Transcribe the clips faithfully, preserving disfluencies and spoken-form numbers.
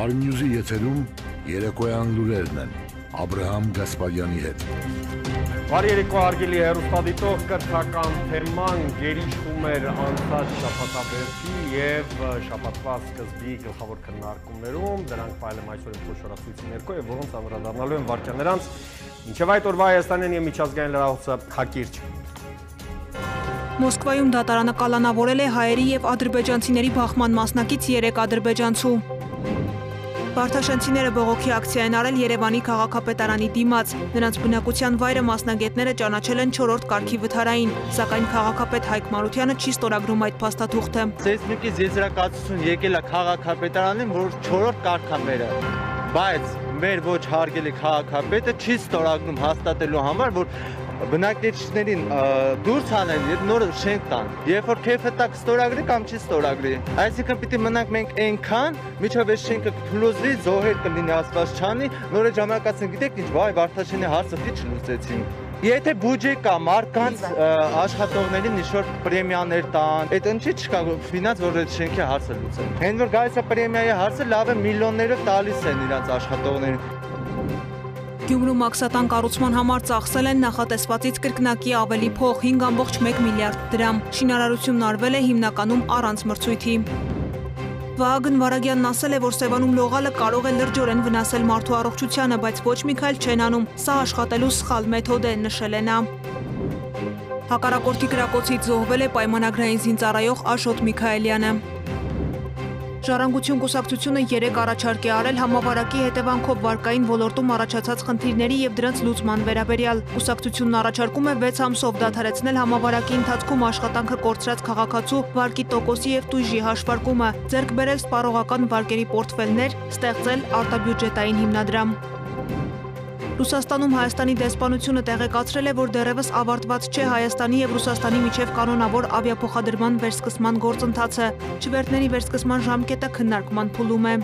Արմյուզի եթերում երեկոյան լուրերն են Աբրահամ Գասպարյանի հետ։ Բարի երեկո հարգելի հեռուստադիտող, կրթական թեման գերիշխում էր անցած շաբաթաբերդի եւ շաբաթվա սկզբի գլխավոր քննարկումներում, դրանք փայլում այսօր փոխորացույցի ներքո եւ որոնց անդրադառնալու են վարքյաններ անց, ինչեւ այդ օրվա Հայաստանյան եւ միջազգային լրահոսը հակիրճ։ Մոսկվայում դատարանը կալանավորել է հայերի եւ ադրբեջանցիների բախման մասնակից երեք ադրբեջանցու։ Վարդաշենցիները բողոքի ակցիա են արել Երևանի քաղաքապետարանի դիմաց։ Նրանց բնակության վայրը մասնագետները ճանաչել են չորրորդ կարգի վթարային, սակայն քաղաքապետ Հայկ Մարությանը չի ստորագրում այդ փաստաթուղթը։ Սեյսմիկից եզրակացություն եկել է քաղաքապետարանին, որ չորրորդ կարգ է մերը, բայց մեր ոչ հարգելի քաղաքապետը չի ստորագրում հաստատելու համար, որ բնակիչներին դուրս հանեն եւ նոր շենք տան։ Երբ որ քեֆը տակ ստորագրի կամ չի ստորագրի։ Այսինքն պիտի մնանք մենք այնքան, միջով այս շենքը կփլուզվի, զոհեր կլինի ասված չանի, նորը ժամանակացին գիտեք ինչ, վայ Վարդաշենի հարցը դի չլուծեցին։ Եթե բյուջե կա, մարկանց աշխատողներին ինչ-որ պրեմիաներ տան, այդ ինչի չկա ֆինանս, որ այդ շենքի հարցը լուծեն։ Հենց որ գալիս է պրեմիայի հարցը, լավ է միլիոններով տալիս են իրանց աշխատողներին։ Գյումրու մաքսատան կառուցման համար ծախսել են նախատեսվածից կրկնակի ավելի փող՝ հինգ ամբողջ մեկ միլիարդ դրամ։ Շինարարությունն արվել է հիմնականում առանց մրցույթի։ Վահագն Վարագյանն ասել է, որ Սևանում լողալը կարող է լրջորեն վնասել մարդու առողջությանը, բայց ոչ մի քայլ չեն անում։ Սա աշխատելու սխալ մեթոդ է, նշել է նա։ Հակառակորդի կրակոցից զոհվել է պայմանագրային զինծառայող Աշոտ Միքայելյանը։ Ժառանգություն կուսակցությունը երեք առաջարկ է արել համավարակի հետևանքով վարկային ոլորտում առաջացած խնդիրների եւ դրանց լուծման վերաբերյալ։ Կուսակցությունն առաջարկում է վեց ամսով դադարեցնել համավարակի ընթացքում աշխատանքը կորցրած քաղաքացու վարկի տոկոսի եւ տույժի հաշվարկումը, ձեռք բերել սպառողական վարկերի պորտֆելներ, ստեղծել արտաբյուջետային հիմնադրամ։ Ռուսաստանում Հայաստանի դեսպանությունը տեղեկացրել է, որ դեռևս ավարտված չէ Հայաստանի եւ Ռուսաստանի միջև կանոնավոր ավիափոխադրման վերսկսման գործընթացը։ Չվերթների վերսկսման ժամկետը քննարկման փուլում է։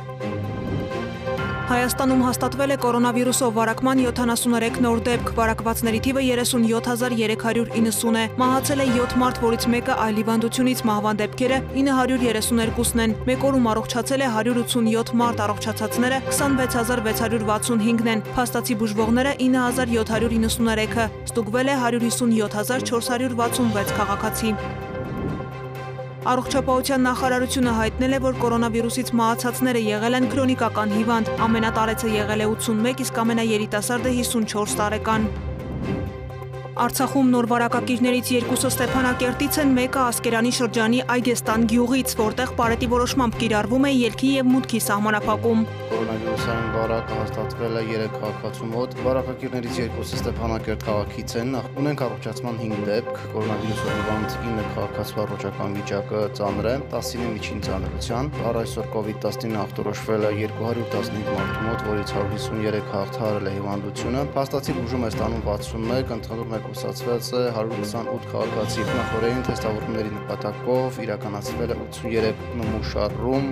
Հայաստանում հաստատվել է կորոնավիրուսով վարակման յոթանասուներեք նոր դեպք, վարակվածների թիվը երեսունյոթ հազար երեք հարյուր իննսուն է։ Մահացել է յոթ մարդ, որից մեկը այլ հիվանդությունից, մահվան դեպքերը ինը հարյուր երեսուներկուսն են։ Մեկ օրում առողջացել է հարյուր ութսունյոթ մարդ, առողջացածները քսանվեց հազար վեց հարյուր վաթսունհինգն են։ Փաստացի բուժվողները ինը հազար յոթ հարյուր իննսուներեքը, ստուգվել է հարյուր հիսունյոթ հազար չորս հարյուր վաթսունվեց քաղաքացի։ Առողջապահության նախարարությունը հայտնել է, որ կորոնավիրուսից մահացածները եղել են քրոնիկական հիվանդ, ամենատարեցը եղել է ութսունմեկ, իսկ ամենաերիտասարդը հիսունչորս տարեկան։ Արցախում նոր վարակակիրներից երկուսը Ստեփանակերտից են, մեկը Ասկերանի շրջանի Այգեստան գյուղից, որտեղ պարետի որոշմամբ կիրառվում է ելքի եւ մուտքի սահմանափակում։ Կորոնավիրուսային վարակը հաստատվել է երեք քաղաքացու մոտ։ Վարակակիրներից երկուսը Ստեփանակերտ քաղաքից են։ Ունենք առողջացման հինգ դեպք, կորոնավիրուսով հիվանդ ինը քաղաքացու առողջական վիճակը ծանր է, տասինը միջին ծանրության։ Առ այսօր կովիդ տասնինը ախտորոշվել է երկու հարյուր տասնհինգ մարդու մոտ, որից հարյուր հիսուներեք հաղթահարել է հիվանդությունը։ Փաստացի բուժում է ստանում վաթսունմեկ, ընդհանուր կուսացված է հարյուր քսանութ քաղաքացի։ Նախորդային թեստավորումների նպատակով իրականացվել է ութսուներեք նմուշառում,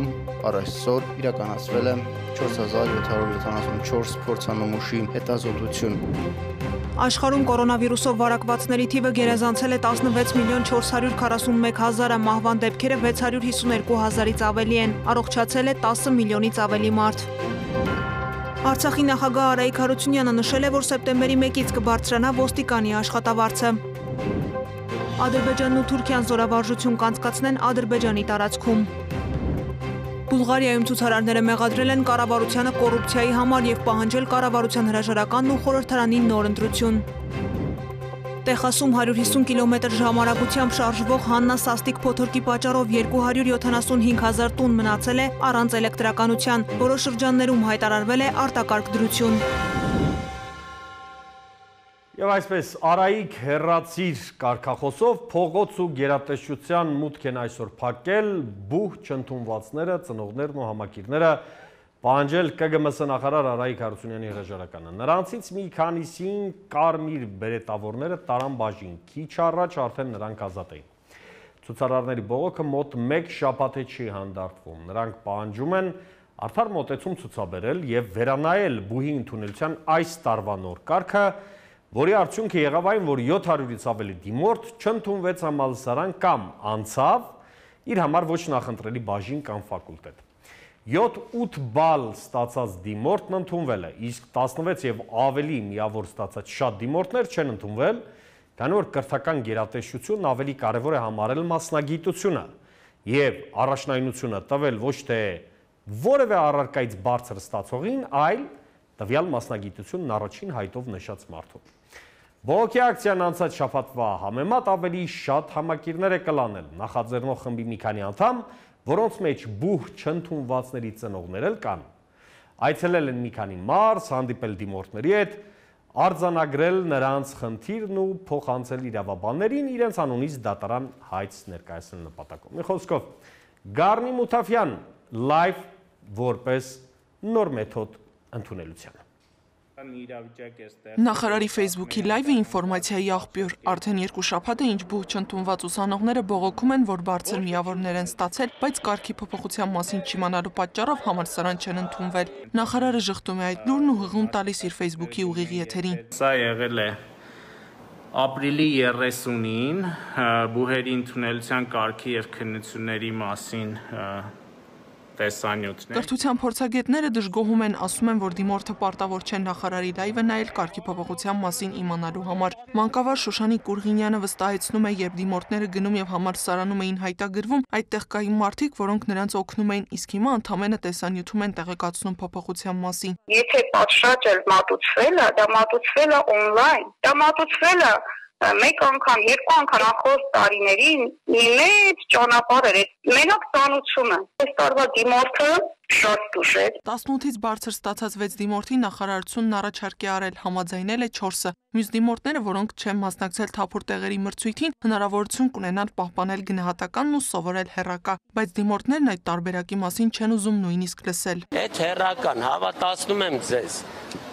առ այսօր իրականացվել է չորս հազար յոթ հարյուր յոթանասունչորս փորձանմուշի հետազոտություն։ Աշխարհում կորոնավիրուսով վարակվածների թիվը գերազանցել է տասնվեց միլիոն չորս հարյուր քառասունմեկ հազարը, մահվան դեպքերը վեց հարյուր հիսուներկու հազարից ավելի են, առողջացել է տասը միլիոնից ավելի մարդ։ Արցախի նախագահ Արայիկ Հարությունյանը նշել է, որ սեպտեմբերի մեկից կբարձրանա ոստիկանի աշխատավարձը։ Ադրբեջանն ու Թուրքիան զորավարժություն կանցկացնեն Ադրբեջանի տարածքում։ Բուլղարիայում ցուցարարները մեղադրել են կառավարությանը կոռուպցիայի համար եւ պահանջել կառավարության հրաժարականն ու խորհրդարանի նոր ընտրություն։ Տեխասում հարյուր հիսուն կիլոմետր ժամարակությամբ շարժվող Հաննա սաստիկ փոթորկի պատճառով երկու հարյուր յոթանասունհինգ հազար տուն մնացել է առանց էլեկտրականության, որոշ շրջաններում հայտարարվել է արտակարգ դրություն։ Եվ այսպես Արայիկ հեռացիր կարգախոսով փողոց ու գերատեսչության մուտք են այսօր փակել բուհ չընդունվածները, ծնողներն ու համակիրները, պահանջել Կ Գ M S նախարար Արայիկ Հարությունյանի հրաժարականը։ Նրանցից մի քանիսին կարմիր բերետավորները տարան բաժին, քիչ առաջ արդեն նրանք ազատ էին։ Ցուցարարների բողոքը մոտ մեկ շաբաթ է չի հանդարտվում։ Նրանք պահանջում են արդար մոտեցում ցուցաբերել եւ վերանայել բուհի ընդունելության այս տարվա նոր կարգը, որի արդյունքը եղավ այն, որ յոթ հարյուրից ավելի դիմորդ չընդունվեց համալսարան կամ անցավ իր համար ոչ նախընտրելի բաժին կամ ֆակուլտետ։ յոթ-ութ բալ ստացած դիմորդն ընդունվել է, իսկ տասնվեց եւ ավելի միավոր ստացած շատ դիմորդներ չեն ընդունվել, քանի որ կրթական գերատեսչությունն ավելի կարևոր է համարել մասնագիտությունը եւ առաջնայնությունը տվել ոչ թե որևէ առարկայից բարձր ստացողին, այլ տվյալ մասնագիտությունն առաջին հայտով նշած մարդուն։ Բողոքի ակցիան անցած շաբաթվա համեմատ ավելի շատ համակիրներ է կլանել, նախաձեռնող խմբի մի քանի անդամ, որոնց մեջ բուհ չընդունվածների ծնողներ էլ կան։ Այցելել են մի քանի մարզ, հանդիպել դիմորդների հետ, արձանագրել նրանց խնդիրն ու փոխանցել իրավաբաններին իրենց անունից դատարան հայց ներկայացնել նպատակով։ Մի խոսքով, Գառնի Մութաֆյան, լայվ որպես նոր մեթոդ ընդունելության։ Նախարարի Facebook-ի լայվը ինֆորմացիայի աղբյուր, արդեն երկու շաբաթ է ինչ բուհ չընդունված ուսանողները բողոքում են, որ բարձր միավորներ են ստացել, բայց կարգի փոփոխության մասին չիմանալու պատճառով համալսարան չեն ընդունվել։ Նախարարը ժխտում է այդ լուրն ու հղում տալիս իր Facebook-ի ուղիղ եթերին։ Սա եղել է ապրիլի երեսունին բուհերի ընդունելության կարգի եւ քննությունների մասին տեսանյութն է։ Կրթության փորձագետները դժգոհում են, ասում են, որ դիմորդը պարտավոր չեն նախարարի լայվը նայել կարգի փոփոխության մասին իմանալու համար։ Մանկավար Շուշանիկ Կուրղինյանը վստահեցնում է, երբ դիմորդները գնում եւ համալսարանում էին հայտագրվում, այդտեղ կային մարդիկ, որոնք նրանց օգնում էին, իսկ հիմա ընդամենը տեսանյութում են տեղեկացնում փոփոխության մասին։ Եթե պատշաճ էլ մատուցվել է, դա մատուցվել է օնլայն, դա մատուցվել է մեկ անգամ, երկու անգամ նախորդ տարիներին մի մեծ ճանապարհ էր, մենակ ծանուցումը։ Այս տարվա դիմորդը շատ տուժ է։ տասնութից բարձր ստացած վեց դիմորդի նախարարությունն առաջարկ է արել, համաձայնել է չորսը։ Մյուս դիմորդները, որոնք չեն մասնակցել թափուր տեղերի մրցույթին, հնարավորություն կունենան պահպանել գնահատականն ու սովորել հեռակա, բայց դիմորդներն այդ տարբերակի մասին չեն ուզում նույնիսկ լսել։ Այդ հեռական հավատացնում եմ ձեզ։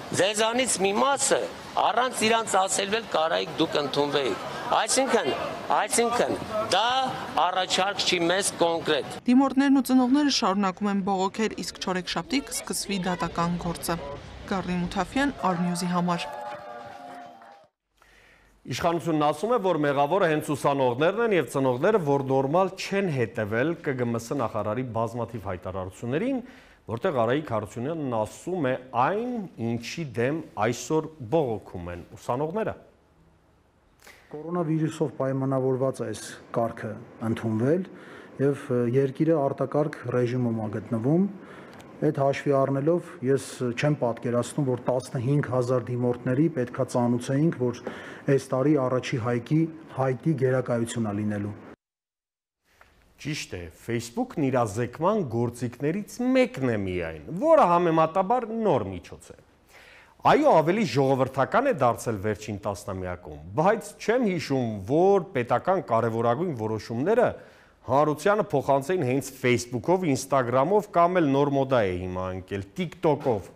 Ձեզանից մի մասը առանց իրանց ասելվել կարայիք դուք ընդունվեիք։ Այսինքն, այսինքն դա առաջարկ չի մեզ կոնկրետ։ Դիմորդներն ու ծնողները շարունակում են բողոքել, իսկ չորեքշաբթի կսկսվի դատական գործը։ Գառնի Մութաֆյան, Արնյուզի համար։ Իշխանությունն ասում է, որ մեղավորը հենց ուսանողներն են եւ ծնողները, որ նորմալ չեն հետևել Կ Գ M S նախարարի բազմաթիվ հայտարարություններին, որտեղ Արայիկ Հարությունյանն ասում է այն, ինչի դեմ այսօր բողոքում են ուսանողները։ Կորոնավիրուսով պայմանավորված այս կարգը ընդունվել եւ երկիրը արտակարգ ռեժիմում է գտնվում։ Այդ հաշվի առնելով ես չեմ պատկերացնում, որ տասնհինգ հազար դիմորդների պետքա ծանուցեինք, որ այս տարի առաջի հայկի հայտի գերակայություն է լինելու։ Ճիշտ է, Facebook-ն իրազեկման գործիքներից մեկն է միայն, որը համեմատաբար նոր միջոց է։ Այո, ավելի ժողովրդական է դարձել վերջին տասնամյակում, բայց չեմ հիշում, որ պետական կարևորագույն որոշումները հանրությանը փոխանցեին հենց Facebook-ով, Instagram-ով կամ էլ նոր մոդա է հիմա ընկել TikTok-ով։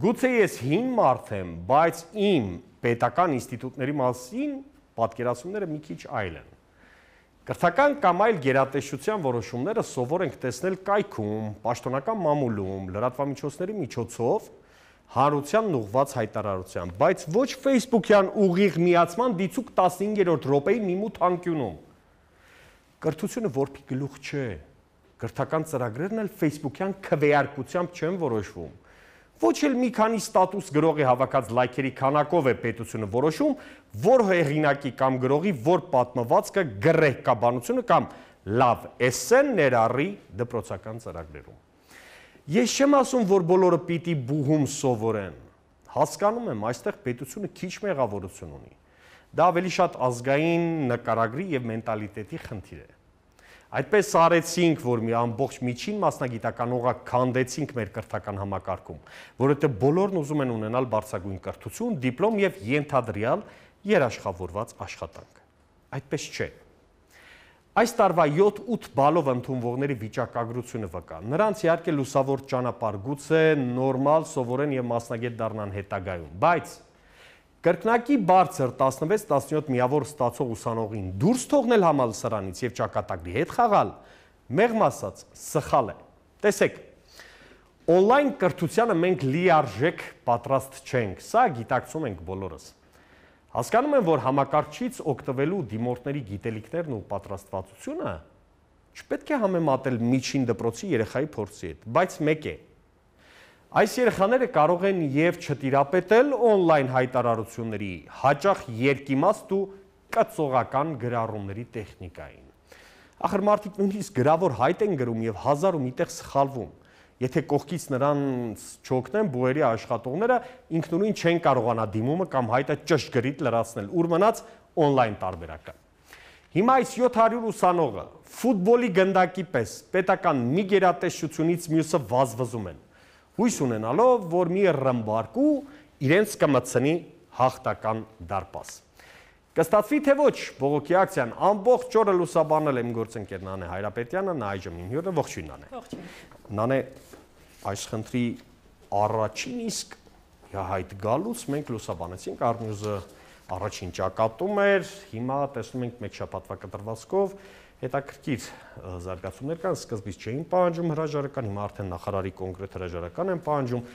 Գուցե ես հին մարդ եմ, բայց իմ պետական ինստիտուտների մասին պատկերացումները մի քիչ այլ են։ Կրթական կամ այլ գերատեսչության որոշումները սովոր ենք տեսնել կայքում, պաշտոնական մամուլում, լրատվամիջոցների միջոցով, հանրությանն ուղղված հայտարարությամբ, բայց ոչ Facebook-յան ուղիղ միացման դիցուկ տասնհինգերորդ րոպեի մի մութ անկյունում։ Կրթությունը որբի գլուխ չէ, կրթական ծրագրերն էլ Facebook-յան քվեարկությամբ չեն որոշվում։ Ոչ էլ մի քանի ստատուս գրողի հավաքած լայքերի քանակով է պետությունը որոշում, որ հեղինակի կամ գրողի որ պատմվածքը գրեհկաբանությունը կամ լավ էսսեն ներառի դպրոցական ծրագրերում։ Ես չեմ ասում, որ բոլորը պիտի բուհում սովորեն։ Հասկանում եմ, այստեղ պետությունը քիչ մեղավորություն ունի։ Դա ավելի շատ ազգային նկարագրի եւ մենտալիտետի խնդիր է։ Այդպես արեցինք, որ մի ամբողջ միջին մասնագիտական օղակ քանդեցինք մեր կրթական համակարգում, որովհետև բոլորն ուզում են ունենալ բարձրագույն կրթություն, դիպլոմ եւ ենթադրյալ երաշխավորված աշխատանք։ Այդպես չէ։ Այս տարվա յոթ-ութ բալով ընդունվողների վիճակագրությունը վկա։ Նրանց իհարկե լուսավոր ճանապարհ գուցե նորմալ սովորեն եւ մասնագետ դառնան հետագայում, բայց կրկնակի բարձր տասնվեց տասնյոթ միավոր ստացող ուսանողին դուրս թողնել համալսարանից եւ ճակատագրի հետ խաղալ, մեղմ ասած, սխալ է։ Տեսեք, օնլայն կրթությանը մենք լիարժեք պատրաստ չենք, սա գիտակցում ենք բոլորս։ Հասկանում եմ, որ համակարգչից օգտվելու դիմորդների գիտելիքներն ու պատրաստվածությունը չպետք է համեմատել միջին դպրոցի երեխայի փորձի հետ, բայց մեկ է։ Այս երեխաները կարող են եւ չտիրապետել on-line հայտարարությունների, հաճախ երկիմաստ ու կծողական գրառումների տեխնիկային։ Ախր մարդիկ նույնիսկ գրավոր հայտ են գրում եւ հազար ու մի տեղ սխալվում։ Եթե կողքից նրանց չօգնեն բուհերի աշխատողները, ինքնուրույն չեն կարողանա դիմումը կամ հայտը ճշգրիտ լրացնել, ուր մնաց on-line տարբերակը։ Հիմա այս յոթ հարյուր ուսանողը ֆուտբոլի գնդակի պես պետական մի գերատեսչությունից մյուսը վազվզում են, հույս ունենալով, որ մի ռմբարկու իրենց կմտցնի հաղթական դարպաս։ Կստացվի թե ոչ, բողոքի ակցիան ամբողջ օրը լուսաբանել եմ գործընկեր Նանե Հայրապետյանը, նա այժմ իմ հյուրն է, ողջույն Նանե։ Նանե, այս խնդրի առաջին իսկ հայտ գալուց մենք լուսաբանեցինք, Արմյուզը առաջին ճակատում էր, հիմա տեսնում ենք մեկ շաբաթվա կտրվածքով հետաքրքիր զարգացումներ կան, սկզբից չէին պահանջում հրաժարական, հիմա արդեն նախարարի կոնկրետ հրաժարական են պահանջում,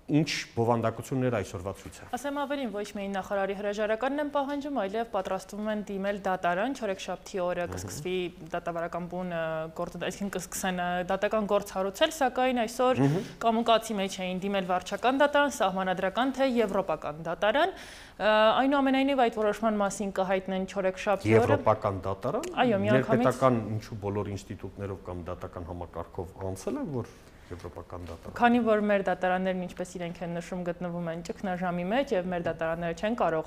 ինչ բովանդակություններ այսօրվա ցույց է։ Ասեմ ավելին, ոչ միայն նախարարի հրաժարականն են պահանջում, այլև պատրաստվում են դիմել դատարան, չորեքշաբթի օրը կսկսվի դատավարական բուն գործ, այսինքն կսկսեն դատական գործ հարուցել, սակայն այսօր կամուկացի մեջ էին դիմել վարչական դատարան, սահմանադրական թե եվրոպական դատարան։ Այնուամենայնիվ այդ որոշման մասին կհայտնեն չորեքշաբթի օրը։ Եվրոպական դատարան։ Այո, միանգամից ներպետական ինչու բոլոր ինստիտուտներով կամ դատական համակարգով անցել է, որ եվրոպական դատարան։ Քանի որ մեր դատարաններն ինչպես իրենք են նշում գտնվում են ճգնաժամի մեջ եւ մեր դատարանները չեն կարող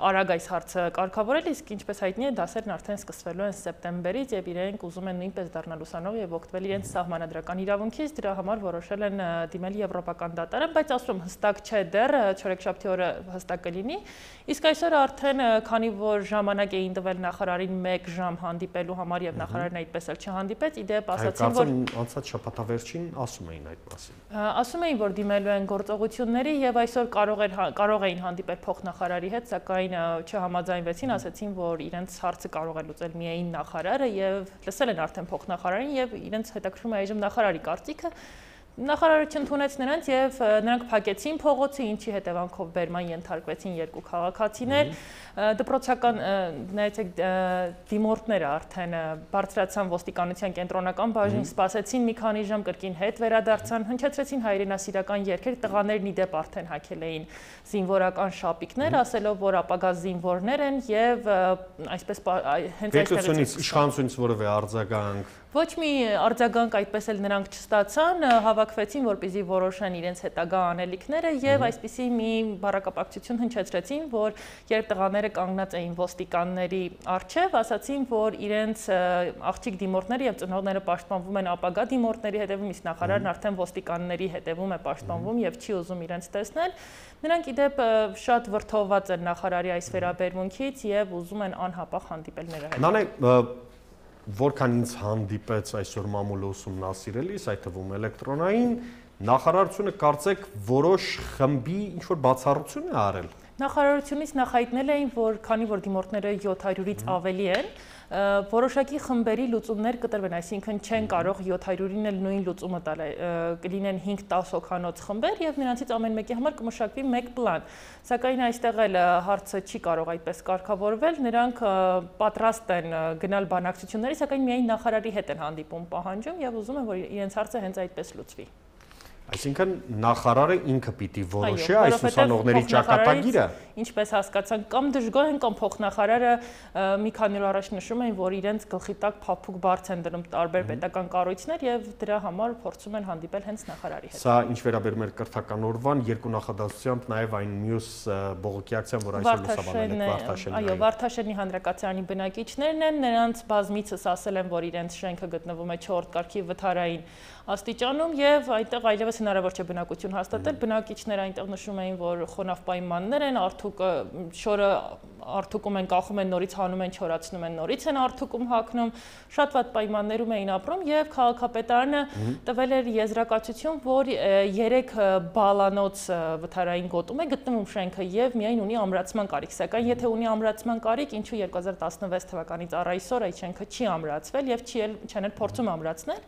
արագ այս հարցը կարգավորել, իսկ ինչպես հայտնի է, դասերն արդեն սկսվելու են սեպտեմբերից եւ իրենք ուզում են նույնպես դառնալ ուսանող եւ օգտվել իրենց սահմանադրական իրավունքից, դրա համար որոշել են դիմել եվրոպական դատարան, բայց ասում հստակ չէ դեռ չորեքշաբթի օրը հստակ կլինի, իսկ այսօր արդեն քանի որ ժամանակ էին տվել նախարարին մեկ ժամ հանդիպելու համար եւ նախարարն այդպես էլ չհանդիպեց, իդեպ ասացին որ անցած շաբաթավերջին ասում էին այդ մասին։ Ասում էին, որ դիմելու են գործողությունների եւ այսօր կարող էր կարող էին հանդիպել փոխնախարարի հետ, սակայն չհամաձայնվեցին, ասացին, որ իրենց հարցը կարող է լուծել միայն նախարարը եւ լսել են արդեն փոխնախարարին եւ իրենց հետաքրքրում է այժմ նախարարի կարծիքը։ Նախարարը չընդունեց նրանց եւ նրանք փակեցին փողոցը, ինչի հետևանքով բերման ենթարկվեցին երկու քաղաքացիներ, դպրոցական նայեցեք դիմորդները արդեն բարձրացան ոստիկանության կենտրոնական բաժին, սպասեցին մի քանի ժամ, կրկին հետ վերադարձան, հնչեցրեցին հայրենասիրական երգեր, տղաներն իդեպ արդեն հագել էին զինվորական շապիկներ, ասելով, որ ապագա զինվորներ են եւ այսպես հենց այստեղից իշխանությունից որևէ արձագանք ոչ մի արձագանք այդպես էլ նրանք չստացան, հավաքվեցին, որպեսզի որոշեն իրենց հետագա անելիքները եւ այսպիսի մի բառակապակցություն հնչեցրեցին, որ երբ տղաները կանգնած էին ոստիկանների առջև, ասացին, որ իրենց աղջիկ դիմորդները եւ ծնողները պաշտպանվում են ապագա դիմորդների հետևում, իսկ նախարարն արդեն ոստիկանների հետևում է պաշտպանվում եւ չի ուզում իրենց տեսնել։ Նրանք իդեպ շատ վրդովված են նախարարի այս վերաբերմունքից եւ ուզում են անհապաղ հանդիպել նրա հետ։ Նանե, որքան ինձ հանդիպեց այսօր մամուլը ուսումնասիրելիս, այդ թվում էլեկտրոնային, նախարարությունը կարծեք որոշ խմբի ինչ-որ բացառություն է արել։ Նախարարությունից նախայտնել էին, որ քանի որ դիմորդները յոթ հարյուրից ավելի են, որոշակի խմբերի լուծումներ կտրվեն, այսինքն չեն կարող յոթ հարյուրին էլ նույն լուծումը տալ, կլինեն հինգ-տաս հոգանոց խմբեր եւ նրանցից ամեն մեկի համար կմշակվի մեկ պլան։ Սակայն այստեղ էլ հարցը չի կարող այդպես կարգավորվել, նրանք պատրաստ են գնալ բանակցությունների, սակայն միայն նախարարի հետ են հանդիպում պահանջում եւ ուզում են, որ իրենց հարցը հենց այդպես լուծվի։ Այսինքն նախարարը ինքը պիտի որոշի այս ուսանողների ճակատագիրը։ Ինչպես հասկացանք, կամ դժգոհ են, կամ փոխնախարարը մի քանի օր առաջ նշում էին, որ իրենց գլխի տակ փափուկ բարձ են դնում տարբեր պետական կառույցներ եւ դրա համար փորձում են հանդիպել հենց նախարարի հետ։ Սա ինչ վերաբերում է կրթական օրվան, երկու նախադասությամբ նաեւ այն մյուս բողոքի ակցիան, որ այսօր լուսաբանել եք Վարդաշենի։ Այո, Վարդաշենի հանրակացարանի բնակիչներն են, նրանց բազմիցս ասել են, որ իրենց շենքը գտնվում է չորրորդ կարգի վթարային աստիճանում եւ այնտեղ այլևս հնարավոր չէ բնակություն հաստատել, բնակիչները այնտեղ նշում էին, որ խոնավ պայմաններ են, արդուկը շորը արդուկում են, կախում են, նորից հանում են, չորացնում են, նորից են արդուկում հագնում, շատ վատ պայմաններում էին ապրում եւ քաղաքապետարանը տվել էր եզրակացություն, որ երեք բալանոց վթարային գոտում է գտնվում շենքը եւ միայն ունի ամրացման կարիք, սակայն եթե ունի ամրացման կարիք, ինչու երկու հազար տասնվեց թվականից առ այսօր այդ շենքը չի ամրացվել եւ չի չեն էլ փորձում ամրացնել։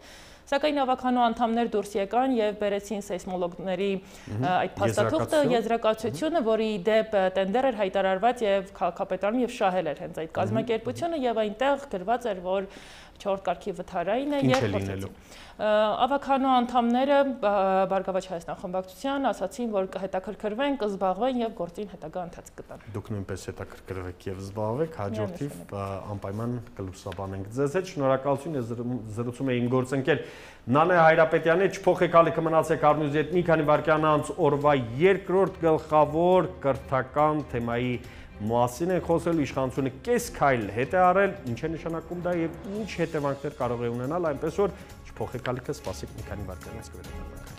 Սակայն ավականու անդամներ դուրս եկան եւ բերեցին սեյսմոլոգների այդ փաստաթուղթը, եզրակացությունը, որի դեպ տենդեր էր հայտարարված եւ քաղաքապետարանում եւ շահել էր հենց այդ կազմակերպությունը եւ այնտեղ գրված էր, որ չորրորդ կարգի վթարային է եւ փոխեցին։ Ավականու անդամները Բարգավաճ Հայաստան խմբակցության ասացին, որ կհետաքրքրվեն, կզբաղվեն եւ գործին հետագա ընթացք կտան։ Դուք նույնպես հետաքրքրվեք եւ զբաղվեք, հաջորդիվ անպայման կլուսաբանենք ձեզ հետ։ Շնորհակալություն, ես զրուցում եմ իմ գործընկեր Նանե Հայրապետյանի, չփոխեք ալիքը մնացեք Արմյուզի հետ մի քանի վայրկյան անց օրվա երկրորդ գլխավոր կրթական թեմայի մասին են խոսել, իշխանությունը կես քայլ հետ է արել, ինչ է նշանակում դա եւ ինչ հետևանքներ կարող է ունենալ, այնպես որ չփոխեք ալիքը, սպասեք մի քանի վայրկյանից կվերադառնանք։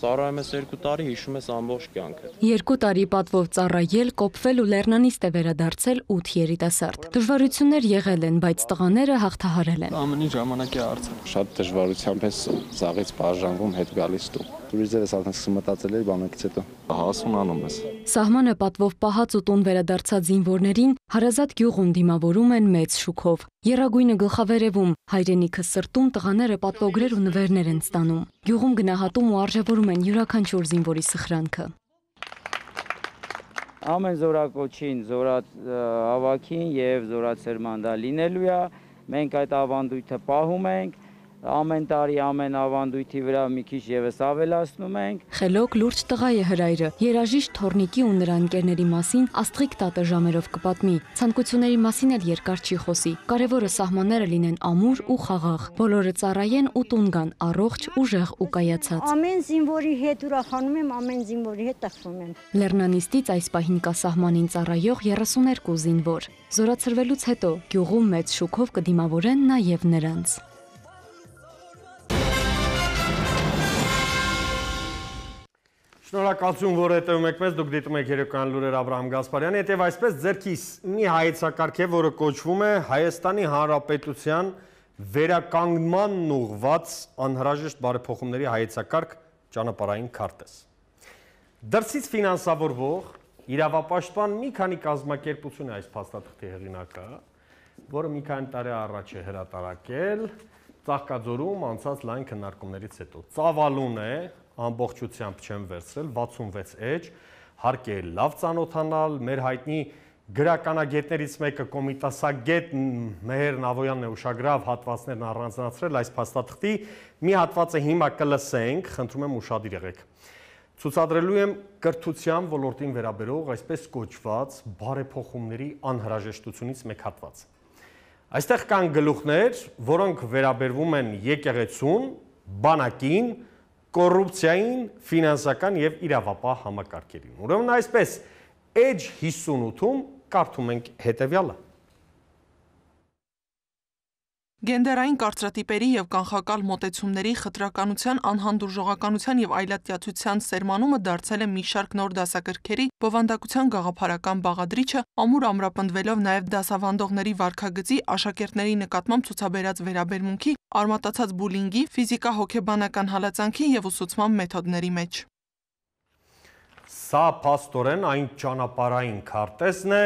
Ծառայում ես երկու տարի, հիշում ես ամբողջ կյանքը։ Երկու տարի պատվով ծառայել, կոփվել ու լեռնանիստ է վերադարձել ութ երիտասարդ։ Դժվարություններ եղել են, բայց տղաները հաղթահարել են։ Ամեն ինչ ժամանակի հարց է։ Շատ դժվարությամբ ես զաղից բաժանվում, հետ գալիս դու։ Տուրիզմը արդեն սկսում մտածել էր բանակից հետո։ Հասուն անում ես։ Սահմանը պատվով պահած ու տուն վերադարձած զինվորներին հարազատ գյուղում դիմավորում են մեծ շուքով։ Եռագույնը գլխավերևում, հայրենիքը սրտում տղաները պատվոգրեր ու նվերներ են ստանում։ Գյուղում գնահատում ու արժևորում են յուրաքանչյուր զինվորի սխրանքը։ Ամեն զորակոչին, զորած հավաքին եւ զորացերման դա լինելու է։ Մենք այդ ավանդույթը պահում ենք։ Ամեն տարի ամեն ավանդույթի վրա մի քիչ եւս ավելացնում ենք։ Խելոք լուրջ տղա է հրայրը։ Երաժիշտ Թորնիկի ու նրա ընկերների մասին Աստղիկ տատը ժամերով կպատմի։ Ցանկությունների մասին էլ երկար չի խոսի։ Կարևորը սահմանները լինեն ամուր ու խաղաղ։ Բոլորը ծառայեն ու տուն գան, առողջ, ուժեղ ու կայացած։ Ամեն զինվորի հետ ուրախանում եմ, ամեն զինվորի հետ տխրում եմ։ Լեռնանիստից այս պահին կա սահմանին ծառայող երեսուներկու զինվոր։ Զորացրվելուց հետո գյուղում մեծ շուքով կդիմավորեն նաև նրանց։ Շնորհակալություն, որ հետևում եք մեզ, դուք դիտում եք երեկոյան լուրեր Աբրահամ Գասպարյանի հետ եւ այսպես ձերքիս մի հայեցակարգ է, որը կոչվում է Հայաստանի Հանրապետության վերականգնմանն ուղղված անհրաժեշտ բարեփոխումների հայեցակարգ ճանապարհային քարտեզ։ Դրսից ֆինանսավորվող իրավապաշտպան մի քանի կազմակերպություն է այս փաստաթղթի հեղինակը, որը մի քանի տարի առաջ է հրատարակել Ծաղկաձորում անցած լայն քննարկումներից հետո։ Ծավալուն է, ամբողջությամբ չեմ վերցրել, վաթսունվեց էջ, հարկ է լավ ծանոթանալ, մեր հայտնի գրականագետներից մեկը կոմիտասագետ Մեհեր Նավոյանն է ուշագրավ հատվածներն առանձնացրել այս փաստաթղթի, մի հատվածը հիմա կլսենք, խնդրում եմ ուշադիր եղեք։ Ցուցադրելու եմ կրթության ոլորտին վերաբերող այսպես կոչված բարեփոխումների անհրաժեշտությունից մեկ հատված։ Այստեղ կան գլուխներ, որոնք վերաբերվում են եկեղեցուն, բանակին, կոռուպցիային, ֆինանսական եւ իրավապահ համակարգերին։ Ուրեմն այսպես էջ հիսունութում կարդում ենք հետեւյալը։ Գենդերային կարծրատիպերի եւ կանխակալ մոտեցումների խտրականության, անհանդուրժողականության եւ այլատյացության սերմանումը դարձել է մի շարք նոր դասագրքերի բովանդակության գաղափարական բաղադրիչը, ամուր ամրապնդվելով նաեւ դասավանդողների վարքագծի, աշակերտների նկատմամբ ցուցաբերած վերաբերմունքի, արմատացած բուլինգի, ֆիզիկա-հոգեբանական հալածանքի եւ ուսուցման մեթոդների մեջ։ Սա փաստորեն այն ճանապարհային քարտեզն է,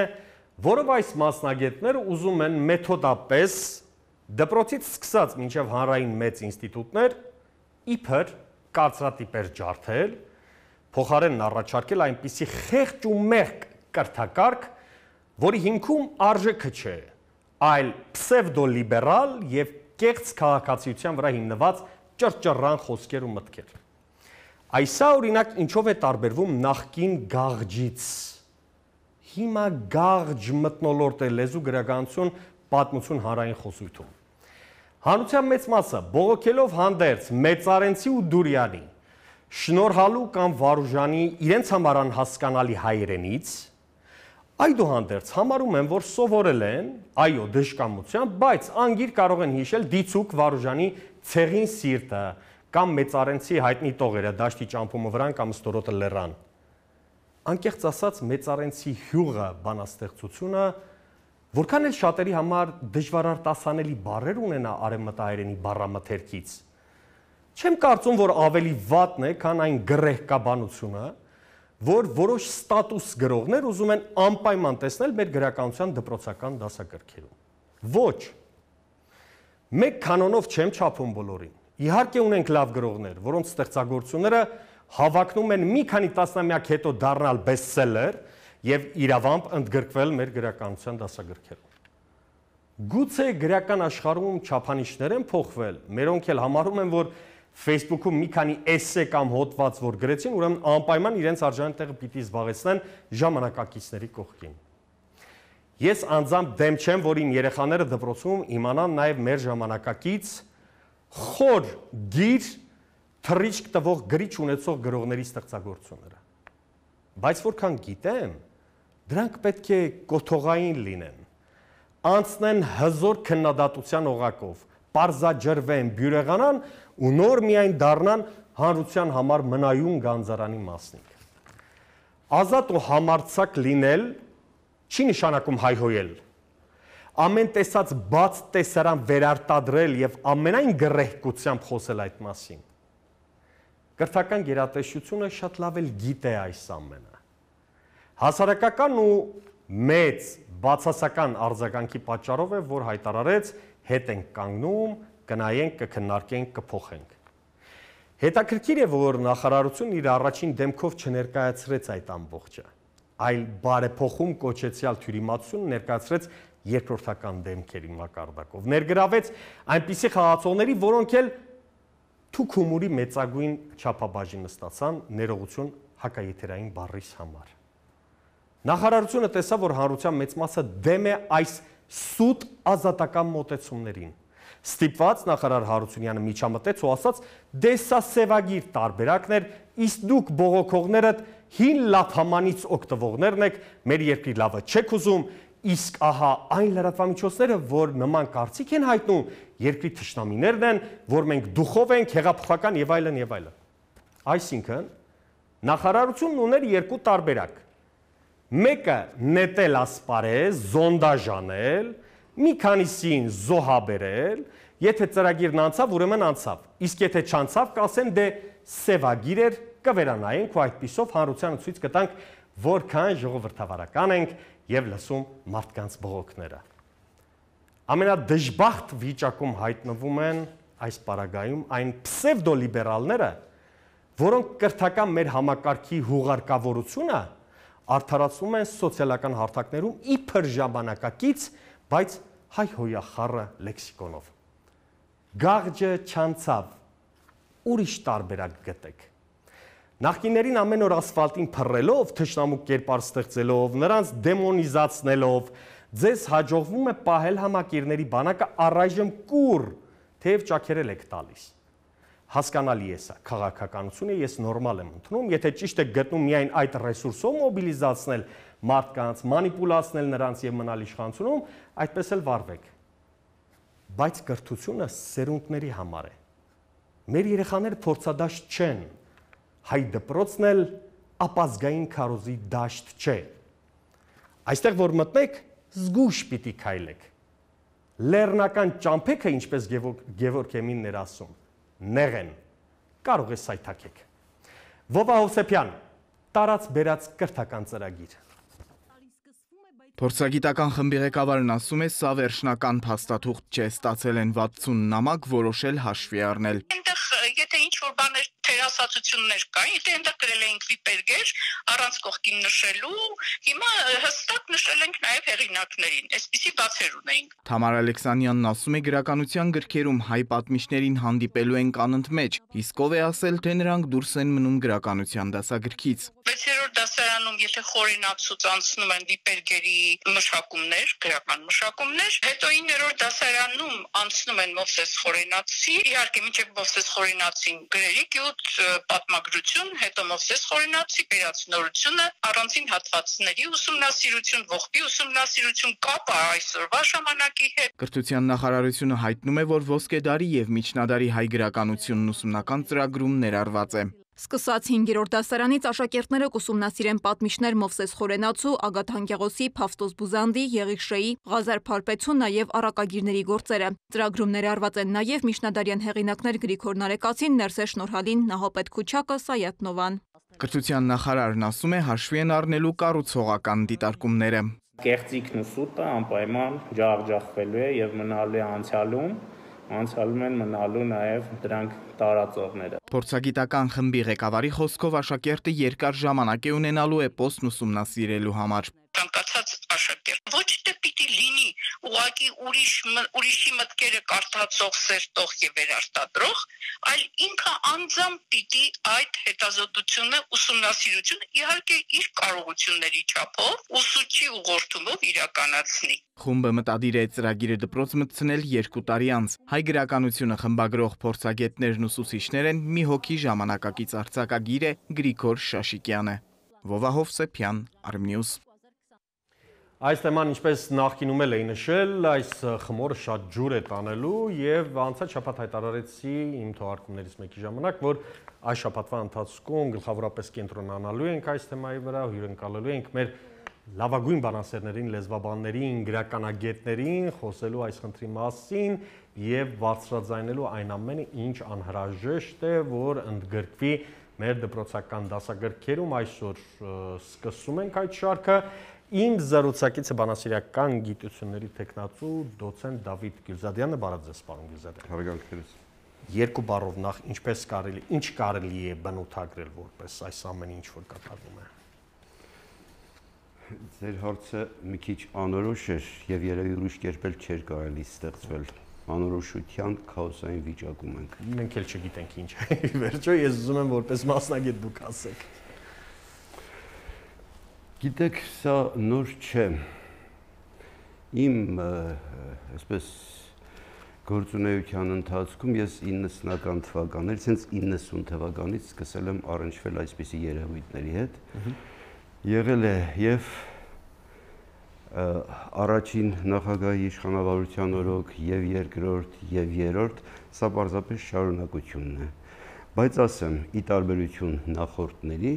որով այս մասնագետները ուզում են մեթոդապես դպրոցից սկսած մինչև հանրային մեծ ինստիտուտներ իբր կարծրատիպեր ջարդել, փոխարենն առաջարկել այնպիսի խեղճ ու մեղք կրթակարգ, որի հիմքում արժեքը չէ, այլ պսևդոլիբերալ եւ կեղծ քաղաքացիության վրա հիմնված ճռճռան խոսքեր ու մտքեր։ Այսա օրինակ ինչով է տարբերվում նախկին գաղջից։ Հիմա գաղջ մթնոլորտ է լեզու գրականություն պատմություն հանրային խոսույթում։ Հանրության մեծ մասը բողոքելով հանդերձ մեծարենցի ու դուրյանի, շնորհալու կամ վարուժանի իրենց համար անհասկանալի հայերենից, այդուհանդերձ համարում են, որ սովորել են, այո, դժկամությամբ, բայց անգիր կարող են հիշել դիցուկ վարուժանի ցեղին սիրտը կամ մեծարենցի հայտնի տողերը դաշտի ճամփումը վրան կամ ստորոտը լեռան։ Անկեղծ ասած, մեծարենցի հյուղը բանաստեղծությունը որքան էլ շատերի համար դժվարարտասանելի բառեր ունենա արևմտահայերենի բառամթերքից, չեմ կարծում, որ ավելի վատն է, քան այն գրեհկաբանությունը, որ որոշ ստատուս գրողներ ուզում են անպայման տեսնել մեր գրականության դպրոցական դասագրքերում։ Ոչ, Մեկ կանոնով չեմ չափում բոլորին։ Իհարկե ունենք լավ գրողներ, որոնց ստեղծագործությունները հավակնում են մի քանի տասնամյակ հետո դառնալ բեսթսելեր եւ իրավամբ ընդգրկվել մեր գրականության դասագրքերում։ Գուցե գրական աշխարհում չափանիշներ են փոխվել, մերոնք էլ համարում են, որ Facebook-ում մի քանի էսսե կամ հոդված որ գրեցին, ուրեմն անպայման իրենց արժանի տեղը պիտի զբաղեցնեն ժամանակակիցների կողքին։ Ես անձամբ դեմ չեմ, որ իմ երեխաները դպրոցում իմանան նաև մեր ժամանակակից խոր գիր թռիչք տվող գրիչ ունեցող գրողների ստեղծագործությունները։ Բայց որքան գիտեմ, դրանք պետք է կոթողային լինեն, անցնեն հզոր քննադատության օղակով, պարզաջրվեն, բյուրեղանան ու նոր միայն դառնան հանրության համար մնայուն գանձարանի մասնիկ։ Ազատ ու համարձակ լինել չի նշանակում հայհոյել։ Ամեն տեսած բաց տեսարան վերարտադրել եւ ամենայն գռեհկությամբ խոսել այդ մասին։ Կրթական գերատեսչությունը շատ լավ էլ գիտե այս ամենը։ Հասարակական ու մեծ բացասական արձագանքի պատճառով է, որ հայտարարեց հետ ենք կանգնում, կնայենք, կքննարկենք, կփոխենք։ Հետաքրքիր է, որ նախարարությունն իր առաջին դեմքով չներկայացրեց այդ ամբողջը, այլ բարեփոխում կոչեցյալ թյուրիմացություն ներկայացրեց երկրորդական դեմքերի մակարդակով, ներգրավեց այնպիսի խաղացողների, որոնք էլ թուք հումորի մեծագույն չափաբաժին ստացան ներողություն հակաեթերային բառիս համար։ Նախարարությունը տեսավ, որ հանրության մեծ մասը դեմ է այս սուտ ազատական մոտեցումներին։ Ստիպված նախարար Հարությունյանը միջամտեց ու ասաց, դե սա սևագիր տարբերակն էր, իսկ դուք բողոքողներդ հին լափամանից օգտվողներն եք, մեր երկրի լավը չեք ուզում, իսկ ահա այն լրատվամիջոցները, որ նման կարծիք են հայտնում, երկրի թշնամիներն են, որ մենք դուխով ենք, հեղափոխական եւ այլն եւ այլն։ Այսինքն, նախարարությունն ուներ երկու տարբերակ։ Մեկը նետել ասպարեզ, զոնդաժանել, մի քանիսին զոհաբերել, եթե ծրագիրն անցավ, ուրեմն անցավ, իսկ եթե չանցավ, կասեն դե սևագիր էր, կվերանայենք ու այդպիսով հանրությանը ցույց կտանք, որքան ժողովրդավարական ենք եւ լսում մարդկանց բողոքները։ Ամենադժբախտ վիճակում հայտնվում են այս պարագայում այն պսևդոլիբերալները, որոնք կրթական մեր համակարգի հուղարկավորությունը արդարացնում են սոցիալական հարթակներում իբր ժամանակակից, բայց հայհոյախառը լեքսիկոնով։ Գաղջը չանցավ, ուրիշ տարբերակ գտեք։ Նախկիներին ամեն օր ասֆալտին փռելով, թշնամու կերպար ստեղծելով, նրանց դեմոնիզացնելով, ձեզ հաջողվում է պահել համակիրների բանակը առայժմ կուռ, թեև ճաքերել եք տալիս։ Հասկանալի է սա, քաղաքականություն է, ես նորմալ եմ ընդունում, եթե ճիշտ է գտնում միայն այդ ռեսուրսով մոբիլիզացնել մարդկանց, մանիպուլացնել նրանց եւ մնալ իշխանությունում, այդպես էլ վարվեք։ Բայց կրթությունը սերունդների համար է։ Մեր երեխաները փորձադաշտ չեն, հայ դպրոցն էլ ապազգային քարոզի դաշտ չէ։ Այստեղ որ մտնեք, զգուշ պիտի քայլեք։ Լեռնական ճամփեքը, ինչպես Գևորգ Էմինն էր ասում, նեղեն, կարող է սայթաքեք։ Վովա Հովսեփյան, տարած բերած կրթական ծրագիր։ Փորձագիտական խմբի ղեկավարն ասում է, սա վերջնական փաստաթուղթ չէ, ստացել են վաթսուն նամակ, որոշել հաշվի առնել։ Այնտեղ եթե ինչ-որ բաներ թերասացություններ կային, եթե այնտեղ գրել էինք վիպերգեր, առանց կողքին նշելու, հիմա հստակ նշել ենք նաև հեղինակներին, այսպիսի բացեր ունեինք։ Թամար Ալեքսանյանն ասում է, գրականության գրքերում հայ պատմիչներին հանդիպելու են անընդմեջ, իսկ ով է ասել, թե նրանք դուրս են մնում գրականության դասագրքից։ վեցերորդ դասարանում, եթե խորենացուց անցնում են վիպերգերի մշակումներ, գրական մշակումներ, հետո իններորդ դասարանում անցնում են Մովսես Խորենացի, իհարկե մինչև Մովսես Խորենացին գրերի գյուտ, պատմագրություն, հետո Մովսես Խորենացի վերացնորությունը, առանցին հատվածների ուսումնասիրություն, ողբի ուսումնասիրություն, կապը այսօրվա ժամանակի հետ։ Կրթության նախարարությունը հայտնում է, որ ոսկե դարի եւ միջնադարի հայ գրականությունն ուսումնական ծրագրում ներառված է։ Սկսած հինգերորդ դասարանից աշակերտները կուսումնասիրեն պատմիչներ Մովսես Խորենացու, Ագաթ Հանգեղոսի, Փավստոս Բուզանդի, Եղիղշեի, Ղազար Փարպեցու, նաև առակագիրների գործերը։ Ծրագրում ներառված են նաև միջնադարյան հեղինակներ Գրիգոր Նարեկացին, Ներսես Շնորհալին, Նահապետ Քուչակը, Սայաթ Նովան։ Կրթության նախարարն ասում է, հաշվի են առնելու կառուցողական դիտարկումները։ Կեղծիքն ու սուտը անպայման ջախջախվելու է եւ մնալու է անցյալում, անցալում են մնալու նաև դրանք տարածողները։ Փորձագիտական խմբի ղեկավարի խոսքով աշակերտը երկար ժամանակ է ունենալու էպոսն ուսումնասիրելու համար։ Ցանկացած աշակերտ ոչ թե պիտի լինի ուղղակի ուրիշ ուրիշի մտքերը կարդացող, սերտող եւ վերարտադրող, այլ ինքը անձամբ պիտի այդ հետազոտությունը, ուսումնասիրությունը իհարկե իր կարողությունների չափով ուսուցչի ուղղորդումով իրականացնի։ Խումբը մտադիր է ծրագիրը դպրոց մտցնել երկու տարի անց։ Հայ գրականությունը խմբագրող փորձագետներն ուսուցիչներ են, մի հոգի ժամանակակից արձակագիր է Գրիգոր Շաշիկյանը։ Վովահով Սեփյան, Արմնյուս։ Այս թեման ինչպես նախկինում էլ էի նշել, այս խմորը շատ ջուր է տանելու եւ անցած շաբաթ հայտարարեցի իմ թողարկումներից մեկի ժամանակ, որ այս շաբաթվա ընթացքում գլխավորապես կենտրոնանալու ենք այս թեմայի վրա, հյուրընկալելու ենք մեր լավագույն բանասերներին, լեզվաբաններին, գրականագետներին, խոսելու այս խնդրի մասին եւ բարձրաձայնելու այն ամենը, ինչ անհրաժեշտ է, որ ընդգրկվի մեր դպրոցական դասագրքերում։ Այսօր սկսում ենք այդ շարքը։ Իմ զրուցակիցը բանասիրական գիտությունների տեխնացու դոցենտ Դավիթ Գյուլզադյանը, բարև ձեզ, պարոն Գյուլզադյան։ Հարցանքներս։ Երկու բառով նախ ինչպես կարելի, ինչ կարելի է բնութագրել որպես այս ամենը, ինչ որ կատարվում է։ Ձեր հարցը մի քիչ անորոշ էր եւ երևի ուրիշ կերպ էլ չէր կարելի ստեղծվել։ Անորոշության քաոսային վիճակում ենք։ Մենք էլ չգիտենք ինչ է։ Վերջո ես ուզում եմ որպես մասնագետ դուք ասեք։ Գիտեք, սա նոր չէ։ Իմ, այսպես, գործունեության ընթացքում ես իննսունական թվականներից, հենց իննսուն թվականից սկսել եմ առնչվել այսպիսի երևույթների հետ։ Եղել է եւ առաջին նախագահի իշխանավարության օրոք, եւ երկրորդ, եւ երրորդ, սա պարզապես շարունակությունն է։ Բայց ասեմ, ի տարբերություն նախորդների,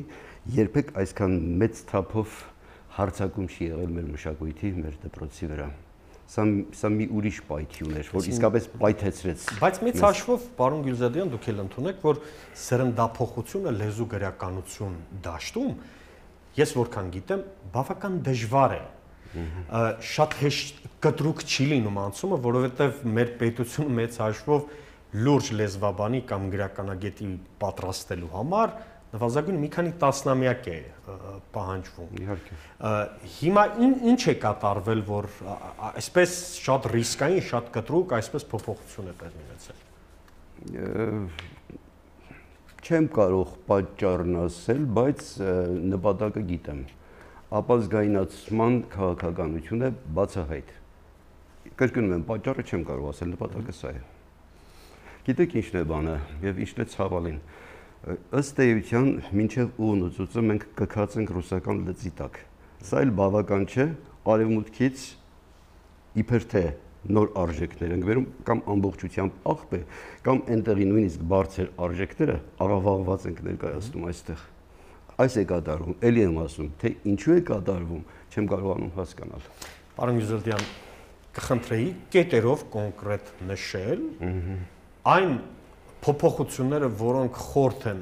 երբեք այսքան մեծ թափով հարցակում չի եղել մեր մշակույթի, մեր դպրոցի վրա։ Սա սա մի ուրիշ պայթյուն էր, որ իսկապես պայթեցրեց։ Բայց մեծ հաշվով, պարոն Գյուլզադյան, դուք էլ ընդունեք, որ սերնդափոխությունը լեզու գրականություն դաշտում, ես որքան գիտեմ, բավական դժվար է։ Շատ հեշտ կտրուկ չի լինում անցումը, որովհետև մեր պետությունը մեծ հաշվով լուրջ լեզվաբանի կամ գրականագետի պատրաստելու համար նվազագույն մի քանի տասնամյակ է պահանջվում։ Իհարկե։ Հիմա ինչ է կատարվել, որ այսպես շատ ռիսկային, շատ կտրուկ այսպես փոփոխություն է տեղի ունեցել։ Չեմ կարող պատճառն ասել, բայց նպատակը գիտեմ։ Ապազգայնացման քաղաքականությունը բացահայտ։ Կրկնում եմ, պատճառը չեմ կարող ասել, նպատակը սա է։ Գիտեք ինչն է բանը եւ ինչն է ցավալին։ Ըստ էության, մինչև ուղնուցուցը մենք կքած ենք ռուսական լծի տակ։ Սա էլ բավական չէ, արևմուտքից իբր թե նոր արժեքներ ենք վերում կամ ամբողջությամբ աղբ է, կամ այնտեղի նույնիսկ բարձր արժեքները աղավաղված ենք ներկայացնում այստեղ։ Այս է կատարվում, էլի եմ ասում, թե ինչու է կատարվում, չեմ կարողանում հասկանալ։ Պարոն Գյուլզադյան, կխնդրեի կետերով կոնկրետ նշել այն փոփոխությունները, որոնք խորթ են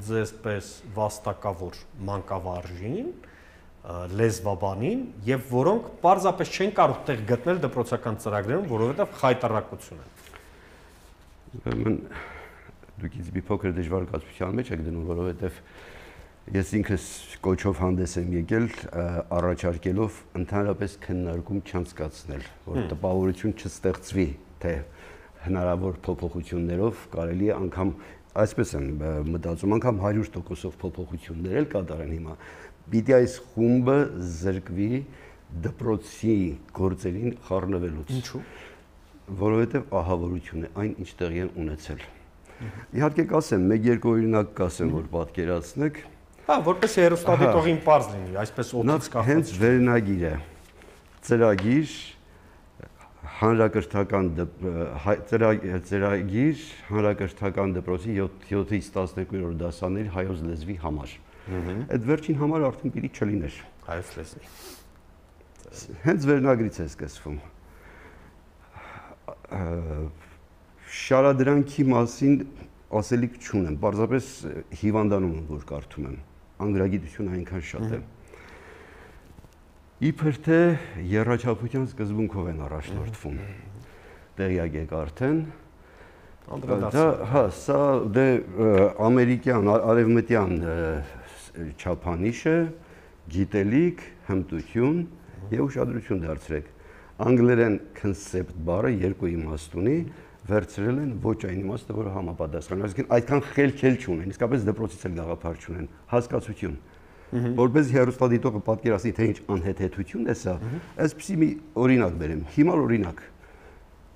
ձեզպես վաստակավոր մանկավարժին, լեզվաբանին եւ որոնք պարզապես չեն կարող տեղ գտնել դպրոցական ծրագրերում, որովհետեւ խայտարակություն են։ Ուրեմն դուք ինձ մի փոքր դժվարացության մեջ եք դնում, որովհետեւ ես ինքս կոչով հանդես եմ եկել առաջարկելով ընդհանրապես քննարկում չանցկացնել, որ տպավորություն չստեղծվի, թե հնարավոր փոփոխություններով կարելի է անգամ, այսպես եմ մտածում, անգամ հարյուր տոկոսով փոփոխություններ էլ կատարեն հիմա։ Պիտի այս խումբը զրկվի դպրոցի գործերին խառնվելուց։ Ինչու՞։ Որովհետև ահավորություն է այն, ինչ տեղի է ունեցել։ Իհարկե կասեմ, մեկ-երկու օրինակ կասեմ, որ պատկերացնեք։ Հա, որպես հեռուստադիտողին պարզ լինի, այսպես օդից կախված։ Հենց վերնագիրը, ծրագիր, հանրակրթական ծրագիր, հանրակրթական դպրոցի յոթից տասներկու դասաների հայոց լեզվի համար։ Այդ վերջին համար արդեն պիտի չլիներ։ Հայոց լեզվի։ Հենց վերնագրից է սկսվում։ Շարադրանքի մասին ասելիք չունեմ, պարզապես հիվանդանում եմ, որ կարդում եմ, անգրագիտությունը այնքան շատ է։ Իբր թե եռաչափության սկզբունքով են առաջնորդվում, տեղյակ եք արդեն, անդրադարձ։ Հա, սա դե ամերիկյան, արևմտյան չափանիշ է, գիտելիք, հմտություն եւ ուշադրություն դարձրեք։ Անգլերեն concept բառը երկու իմաստ ունի, վերցրել են ոչ այն իմաստը, որը համապատասխան, այսինքն այդքան խելքել չունեն, իսկապես դպրոցից էլ գաղափար չունեն, հասկացություն։ Որպես հեռուստադիտողը պատկերացնի, թե ինչ անհեթեթություն է սա, այսպեսի մի օրինակ բերեմ, հիմար օրինակ։